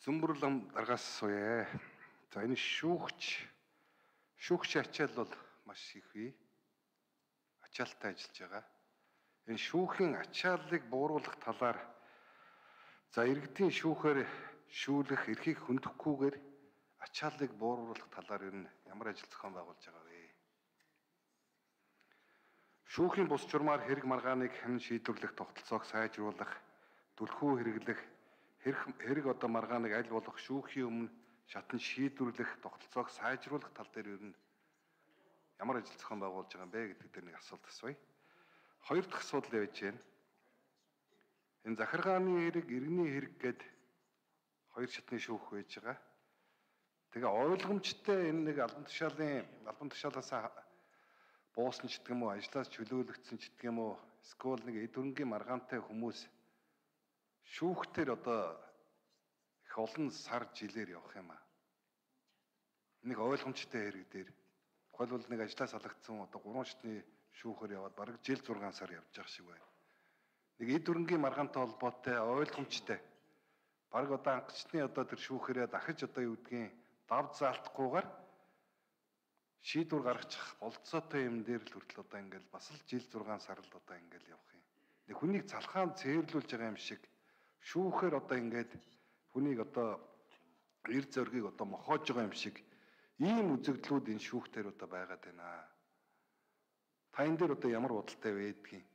Зөмбөрлөм даргаас суя. За энэ шүүгч ачаал бол маш их бий. Ачаалтай ажиллаж байгаа. Энэ шүүхийн ачааллыг бууруулах талаар за иргэдийн шүүхээр шүүлэх эрхийг хөндөөхгүйгээр ачааллыг бууруулах талаар ер нь ямар ажил зохион байгуулж байгаа вэ? Шүүхийн бус журмаар хэрэг маргааныг хэн шийдвэрлэх тогтолцоог сайжруулах, түлхүү хэрэглэх, хэрэг одоо маргааныг аль болох шүүхийн өмнө шатан шийдвэрлэх тогтолцоог сайжруулах тал дээр ер нь ямар ажил зохион байгуулж байгаа юм бэ гэдэг дээр нэг асуулт асууя. Хоёр дахь асуудал явж байна. Энэ захиргааны хэрэг, иргэний хэрэг гээд хоёр шатны шүүх байж байгаа. Тэгээ ойлгомжтой энэ нэг албан тушаалаас буусан ч гэдэг юм уу, ажлаас чөлөөлөгдсөн ч гэдэг юм уу, эсвэл нэг эд хөрөнгийн маргаантай хүмүүс шүүхтэр одоо их олон сар жилээр явах юм аа. Нэг ойлгомжтой хэрэг дээр тухайлбал нэг ажлаас алгагдсан одоо 3 шатны шүүхээр яваад бараг жил 6 сар явж байгаа шиг байна. Нэг эд хөрөнгийн маргаантай холбоотой ойлгомжтой. Бараг одоо ангачны одоо тэр шүүхээрээ дахиж одоо юу гэдгийг дав заалтахгүйгээр шийдвэр гаргачих болцоотой юм дээр л хүртэл одоо ингээл бас л жил 6 сар л одоо ингээл явах юм. Нэг хүнийг залхаан цээрлүүлж байгаа юм шиг шүүхээр одоо ингээд хүнийг одоо эр зоргийг одоо мохоож байгаа юм шиг ийм үзэгдлүүд энэ шүүхтэр одоо байгаад байна. Та энэ дээр одоо ямар бодолтой байдгийг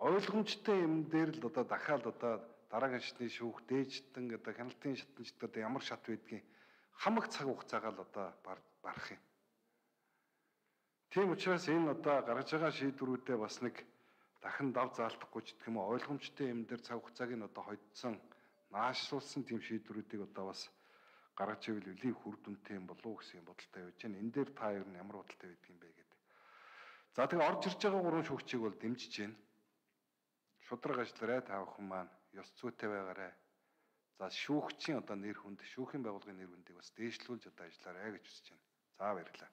ойлгомжтой юм дээр л одоо дахиад одоо дараагийн шатны шүүх дээжтэн одоо хяналтын шатнчд одоо ямар шат байдгийг хамаг цаг хугацаагаар л одоо барах юм. Тийм учраас энэ одоо гаргаж байгаа шийдвэрүүдээ бас нэг дахин дав заалтахгүй ч гэх юм уу ойлгомжтой юм дээр цаг хугацааг нь одоо хоцсон наашруулсан тийм шийдвэрүүдийг одоо бас гаргаж ивэл үлийн хүр дүнтэй юм болов уу гэсэн юм бодолтой байж байна. Энэ дээр та ер нь ямар бодолтой байдаг юм бэ гэдэг. За тэгээ орж ирж байгаа гурван шүүгчийг бол дэмжиж байна. Шудраг ажиллаарай та бүхэн маань ёс зүйтэй байгаарай. За шүүгчийн одоо нэр хүнд, шүүхийн байгууллагын нэр хүндийг бас дээшлүүлж одоо ажиллаарай гэж хүсэж байна. За баярлалаа.